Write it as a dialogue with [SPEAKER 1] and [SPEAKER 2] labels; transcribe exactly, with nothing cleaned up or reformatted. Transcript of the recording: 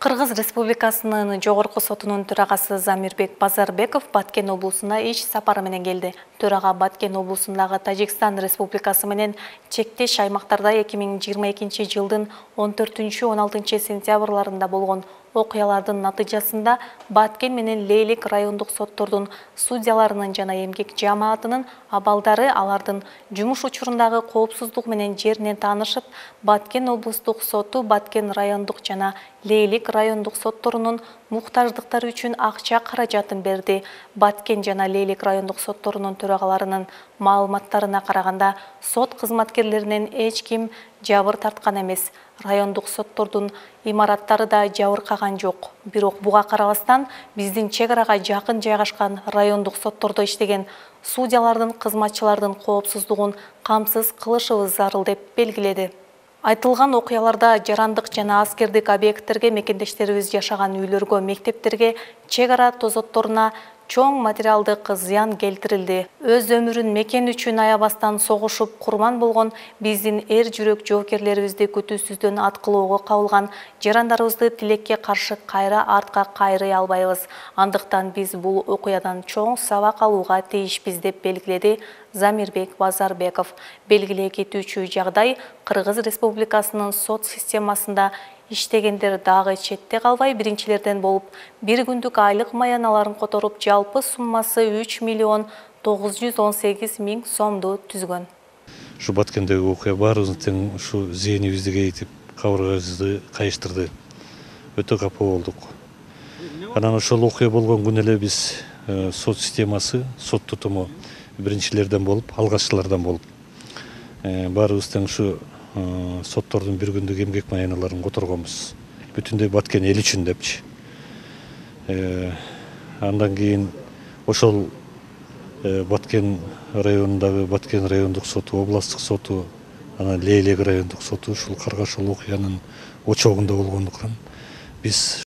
[SPEAKER 1] Кыргыз Республикасынын Жогорку сотунун төрагасы Замирбек Базарбеков Баткен облусуна иш сапары менен келди. Төрага Баткен облусундагы Тажикстан Республикасы менен чектеш аймактарда эки миң жыйырма экинчи жылдын он төртүнчү он алтынчы сентябрларында болгон окуялардын натыйжасында Баткен менен Лейлик райондук соттордун судьяларынын жана эмгек жамаатынын абалдары алардын жумуш учурундагы коопсуздук менен жеринен таанышып, Баткен облустук соту Баткен райондук жана Лейлик райондук сотторунун муктаждыктары үчүн акча каражатын берди. Баткен жана Лейлик райондук сотторунун төрагаларынын маалыматтарына караганда, сот кызматкерлеринен эч ким жабыр тарткан эмес. Райондук соттордун имараттары да жабыркаган жок. Бирок буга карабастан биздин чек арага жакын жайгашкан райондук соттордо иштеген судьялардын кызматчылардын коопсуздугун камсыз кылышыбыз зарыл деп белгиледи. Айтылган окуяларда жарандык жана аскердик объекттерге, мекендештерибиз жашаган үйлөргө, мектептерге, чек ара тозотторуна чоң материалдык зыян келтирилди. Өз өмүрүн мекен үчүн аябастан согушуп курман болгон биздин эр жүрөк жоокерлерибизди күтүүсүздөн аткылоого кабылган жарандарыбызды тилекке каршы кайра артка кайрый албайбыз. Андыктан биз бул окуядан чоң сабак алууга тийишпиз деп белгиледи Замирбек Базарбеков. Белгилей кетүүчү жагдай, Кыргыз Республикасынын сот системасында иштегендер дагы четте калбай биринчилерден болуп, бир күндүк айлык маяналарын которуп, жалпы суммасы үч миллион тогуз жүз он сегиз миң сомду түзгөн.
[SPEAKER 2] Ушу Баткендеги окуя баарыбыздын тең ушу зээнибизди кейитип, кабыргабызды кайыштырды. Өтө капа болдук. Анан ошол окуя болгон күнү эле биз сот системасы, сот тутуму биринчилерден болуп, алгаччылардан болуп, баарыбыз тең ушу соттордун бир күндүк эмгек маяналарын которгонбуз. Бүтүндөй Баткен эл үчүн депчи. Андан кийин ошол Баткен районундагы Баткен райондук соту, областтык соту, анан Лейлик райондук соту ушул Каргаш ошол окуянын очогунда болгондуктан биз